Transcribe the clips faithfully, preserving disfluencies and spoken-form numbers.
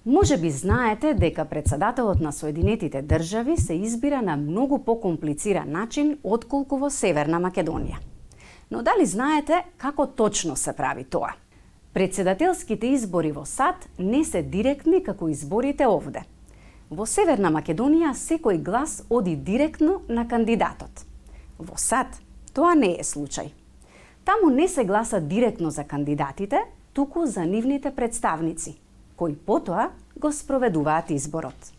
Може би знаете дека председателот на Соединетите држави се избира на многу покомплициран начин отколку во Северна Македонија. Но дали знаете како точно се прави тоа? Председателските избори во САД не се директни како изборите овде. Во Северна Македонија секој глас оди директно на кандидатот. Во САД тоа не е случај. Таму не се гласа директно за кандидатите, туку за нивните представници, кои потоа го спроведуваат изборот.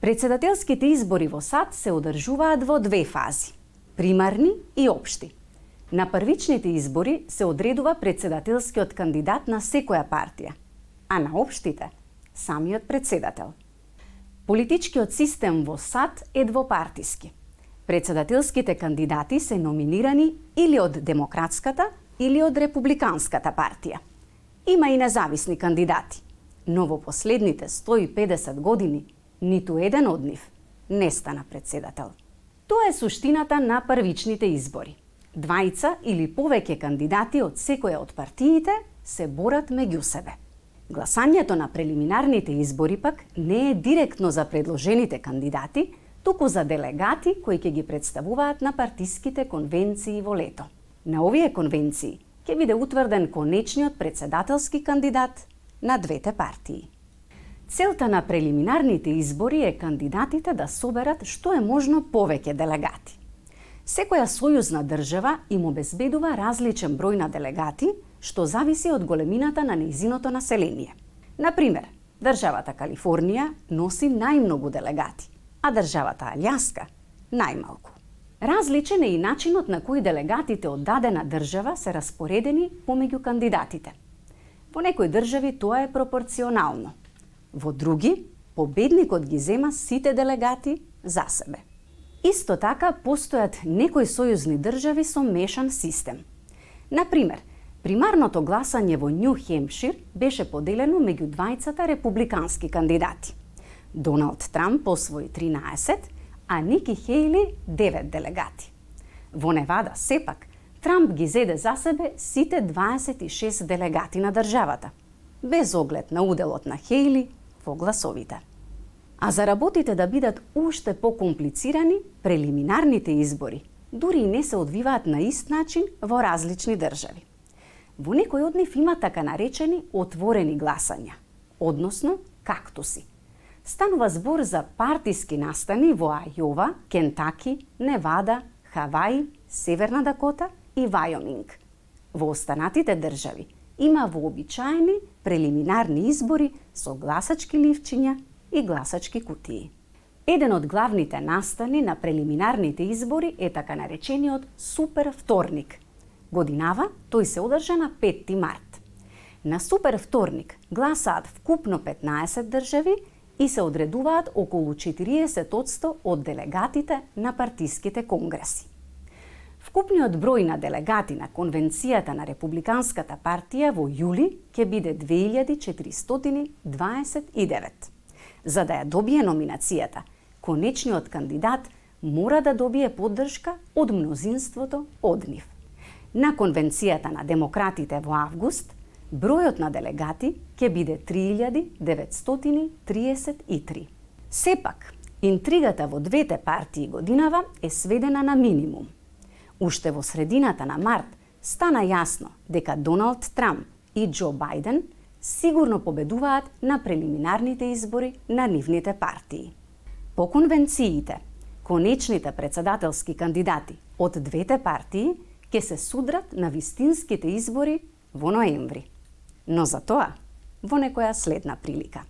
Председателските избори во САД се одржуваат во две фази – примарни и општи. На првичните избори се одредува председателскиот кандидат на секоја партија, а на општите – самиот председател. Политичкиот систем во САД е двопартиски. Председателските кандидати се номинирани или од Демократската или од Републиканската партија. Има и независни кандидати, но во последните сто и педесет години ниту еден од нив не стана председател. Тоа е суштината на првичните избори. Двајца или повеќе кандидати од секоја од партиите се борат меѓу себе. Гласањето на прелиминарните избори пак не е директно за предложените кандидати, туку за делегати кои ќе ги представуваат на партиските конвенции во лето. На овие конвенции ќе биде утврден конечниот председателски кандидат на двете партии. Целта на прелиминарните избори е кандидатите да соберат што е можно повеќе делегати. Секоја сојузна држава им обезбедува различен број на делегати, што зависи од големината на нејзиното население. Например, државата Калифорнија носи најмногу делегати, а државата Алјаска најмалку. Различен е и начинот на кој делегатите од дадена држава се распоредени помеѓу кандидатите. Во некои држави тоа е пропорционално. Во други, победникот ги зема сите делегати за себе. Исто така, постојат некои сојузни држави со мешан систем. Например, примарното гласање во Њу Хемпшир беше поделено меѓу двајцата републикански кандидати. Доналд Трамп освои тринаесет, а Ники Хејли девет делегати. Во Невада, сепак, Трамп ги зеде за себе сите дваесет и шест делегати на државата, без оглед на уделот на Хејли во гласовите. А за работите да бидат уште покомплицирани, прелиминарните избори дури и не се одвиваат на ист начин во различни држави. Во некој од нив има така наречени отворени гласања, односно кактуси. Станува збор за партиски настани во Ајова, Кентаки, Невада, Хаваи, Северна Дакота и Вајоминг. Во останатите држави има вообичаени прелиминарни избори со гласачки ливчиња и гласачки кутии. Еден од главните настани на прелиминарните избори е така наречениот Супер вторник. Годинава тој се одржа на петти март. На Супер вторник гласаат вкупно петнаесет држави и се одредуваат околу четириесет одсто од делегатите на партиските конгреси. Вкупниот број на делегати на Конвенцијата на Републиканската партија во јули ќе биде две илјади четиристотини дваесет и девет. За да ја добие номинацијата, конечниот кандидат мора да добие поддршка од мнозинството од нив. На Конвенцијата на демократите во август, бројот на делегати ќе биде три илјади деветстотини триесет и три. Сепак, интригата во двете партии годинава е сведена на минимум. Уште во средината на март стана јасно дека Доналд Трамп и Џо Бајден сигурно победуваат на прелиминарните избори на нивните партии. По конвенциите, конечните председателски кандидати од двете партии ќе се судрат на вистинските избори во ноември. Но за тоа во некоја следна прилика.